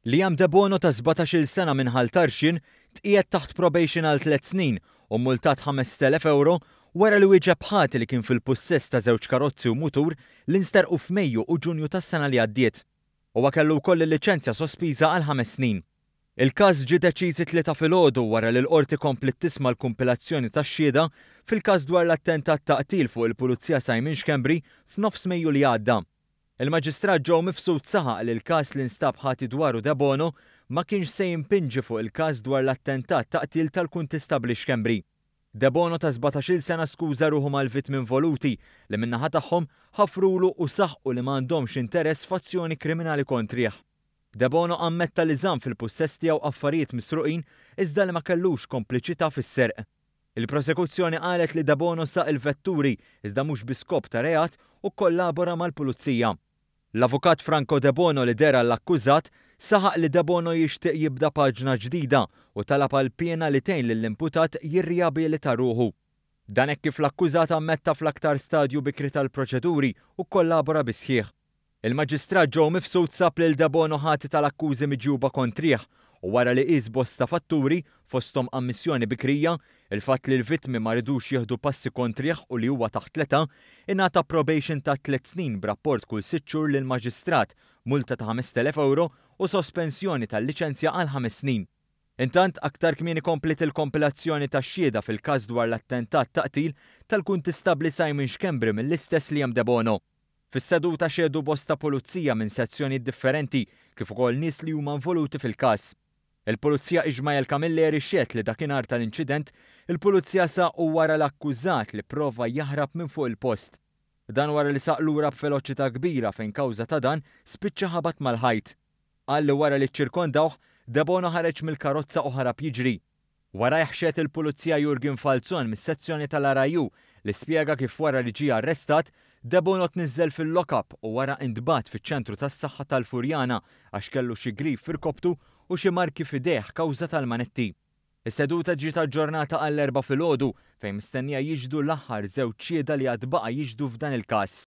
Liam Debono ta' 17-il sena minn Ħal Tarxien tqiegħed taħt probation għal tliet snin u mmultat €5,000 wara li wieġeb ħati li kien fil-pussess ta' żewġ karozzi u mutur li nsterqu f'Mejju u Ġunju tas-sena li għaddiet. Huwa kellu wkoll il-liċenzja sospiża għal ħames snin. Il-każ ġie deċiż it-Tlieta filgħodu wara li l-Qorti kompliet tisma' l-kumpilazzjoni tax-xhieda fil-każ dwar l-attentat ta' qtil fuq il-Pulizija Simon Schembri f'nofs Mejju li għadda. Il-Maġistrat Joe Mifsud saħaq li l-każ li nstab ħati dwaru Debono ma kienx se jimpinġi fuq il-każ dwar l-attentat ta' qtil tal-Kuntistabbli Schembri. Debono ta' 17-il sena skuża ruħu mal-vittmi involuti li min-naħa tagħhom ħafrulu u saħqu li ma għandhomx interess f'azzjoni kriminali kontrih. Debono ammetta li żamm fil-pussess tiegħu affarijiet misruqin iżda li ma kellux kompliċità fis-serq. Il-prosekuzzjoni qalet li Debono saq il-vetturi iżda mhux bi skop ta' reat u kkollabora mal-pulizija. L-Avukat Franco Debono li deher għall-akkużat saħaq li Debono jixtieq jibda paġna ġdida u talab għal piena li tgħin lill-imputat jirrijabilita ruħu. Dan hekk kif l-akkużat ammetta fl-aktar stadju bikri tal-proċeduri u kkollabora bis-sħiħ. Il-Maġistrat Joe Mifsud sab lil Debono ħati tal-akkużi miġjuba kontrih u wara li qies bosta fatturi, fosthom ammissjoni bikrija, il-fatt li l-vittmi ma ridux jieħdu passi kontrih u li huwa taħt l-età, ingħata probation ta' tliet snin b'rapport kull sitt xhur lill-Maġistrat, multa ta' €5,000 u sospensjoni tal-liċenzja għal ħames snin. Intant, aktar kmieni kompliet il-kompilazzjoni tax-xhieda fil-każ dwar l-attentat ta' qtil tal-Kuntistabbli Simon Schembri mill-istess Liam Debono. Fis-seduta xehdu bosta pulizija minn sezzjonijiet differenti kif ukoll nies li huma involuti fil-każ. Il-Pulizija Ishmael Camilleri xehed li dakinhar tal-inċident, il-Pulizija saqu wara l-akkużat li pprova jaħrab minn fuq il-post. Dan wara li saq lura b'veloċità kbira fejn kawża ta' dan spiċċa ħabat mal-ħajt. Qal li wara li ċċirkondawh, Debono ħareġ mill-karozza u ħarab jiġri. Warajh xehed il-Pulizija Jurgen Falzon mis-sezzjoni tal-RIU li spjega kif wara li ġie arrestat, Debono tniżżel fil-lock-up u wara intbagħat fiċ-ċentru tas-saħħa tal-Furjana għax kellu xi grif f'irkoptu u xi marki f'idejh kawża tal-manetti. Is-seduta ġiet aġġornata għall-Erbgħa filgħodu fejn mistennija jixhdu l-aħħar żewġ xhieda li għad baqa' jixhdu f'dan il-każ.